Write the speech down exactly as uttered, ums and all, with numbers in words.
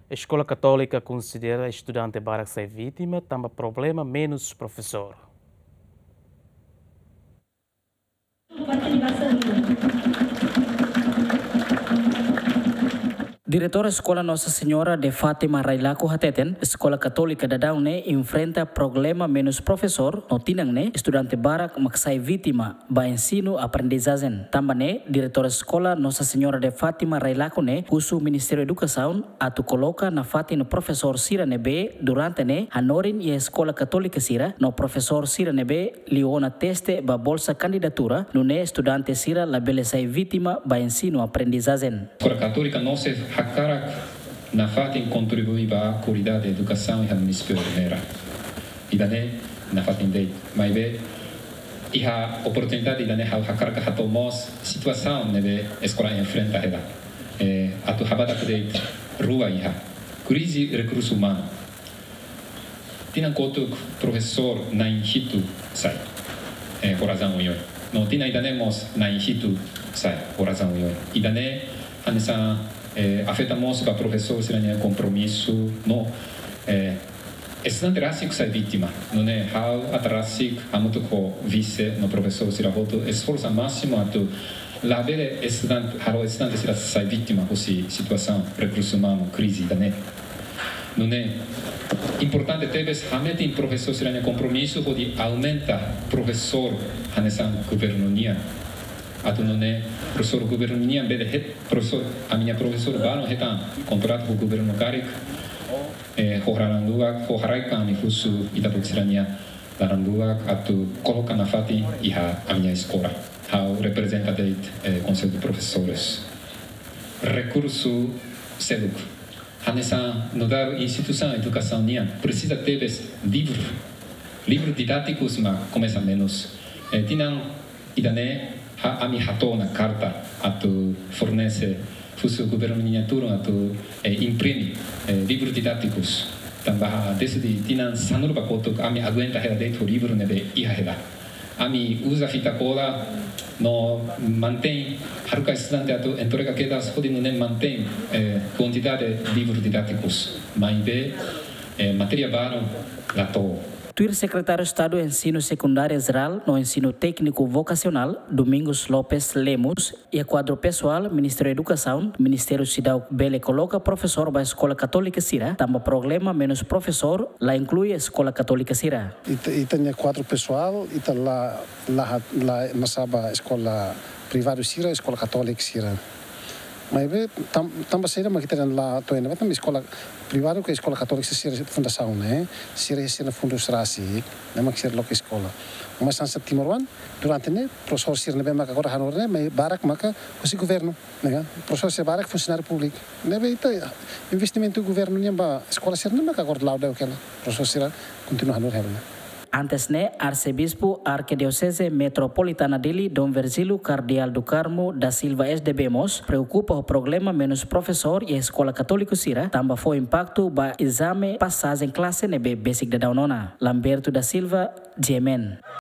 Eskola Katólika konsidera estudante barak sai vítima tanba problema menus profesór. Diretora Eskola Nossa Senhora de Fátima Railaco hateten, Eskola Katólika daudaun ne'e enfrenta problema menus profesór, no tinan ne'e estudante barak mak sai vítima ba ensinu aprendizajen. Tanba ne'e, Diretora Eskola Nossa Senhora de Fátima Railaco ne'e husu Ministériu Edukasaun atu koloka nafatin profesór sira ne'ebé durante ne'e hanorin iha eskola katólika sira, no profesór sira ne'ebé liu ona teste ba bolsa kandidatura, nune'e estudante sira labele sai vítima ba ensinu aprendizajen. Eskola Katólika mós hakarak nafatin kontribui ba kualidade edukasaun iha munisípiu Ermera. Ida-ne'e nafatin de'it. Maibé iha oportunidade ida-ne'e ha'u hakarak hato'o mós situasaun ne'ebé eskola enfrenta hela. Eh, atu habadak de'it rua iha. Krize rekursu umanu. Tinan kotuk profesór na'in hitu sai. Eh, ho razaun oioin. No tinan ida-ne'e mós na'in hitu sai. Ho razaun oioin. Ida-ne'e hanesan, eh, afeta mós ba profesór sira-nia kompromisu. No, eh, estudante rasik sai vítima. Nune'e ha'u atu rasik hamutuk ho vise no profesór sira hotu esforsa másimu atu labele estudante, halo estudante sira sai vítima husi situasaun rekursu umanu krize ida-ne'e. Nune'e importante tebes hametin profesór sira-nia kompromisu hodi aumenta profesór hanesan governu nian. Atu nune'e profesór governu nian bele het, profesór, ami-nia profesór balun hetan kontratu ho governu karik, eh, ho haraik laran luak, ho haraik ami husu ita-boot sira-nia laran luak atu koloka nafatin iha ami-nia eskola. Ha'u reprezenta de'it, eh, Konsellu de Profesores. Rekursu seluk. Hanesan nu'udar instituisaun edukasaun nian presiza tebes livru. Livru didátikus mak komesa menus. Eh, tinan ida-ne'e ha-, ami hato'o ona karta atu fornese husu governu nian turun atu, eh, imprime, eh, livru didátikus. Tanba desde tinan sanulu ba kotuk ami aguenta hela de'it ho livru ne'ebé iha hela. Ami uza fita kola no mantein, haruka estudante atu entrega kedas hodi nune'e mantein, eh, kuantidade livru didátikus. Maibé, eh, matéria balun la to'o. Tuir Sekretáriu Estadu Ensinu Sekundáriu Jerál no Ensinu Tékniku Vokasionál, Domingos Lopes Lemos, iha kuadru pesoál Ministériu Edukasaun, Ministériu seidauk bele koloka profesór ba eskola katólika sira, tanba problema menus profesór la inklui eskola katólika sira. Ita, ita-nia kuadru pesoál, ita la, la, la, la sa'e ba eskola privadu sira, eskola katólika sira. Maibé, tam-, tanba saida mak ita la to'o iha ne'ebá, tanba eskola privadu ka eskola katólika sira fundasaun ne'e, sira, sira fundus rasik, ne'e mak sira loke eskola. Mas hanesan timoroan, durante ne'e, profesór sira ne'ebé maka agora hanorin ne'e, mai barak maka husi governu, ne'e ka? Profesór sira barak funsionáriu públiku. Ne'ebé ita investimentu governu nian ba eskola sira ne'e maka agora la'o daudaun hela. Profesór sira kontinua hanorin hela ne'e. Antes ne'e, Arsebispu Arkidioseze Metropolitana Dili, Dom Virgílio Cardeal do Carmo da Silva S D B mós preokupa ho problema menus profesór iha eskola katólika sira, tanba fó impaktu ba ezame pasajen klase ne'ebé besik daudaun ona. Lamberto da Silva, G M N.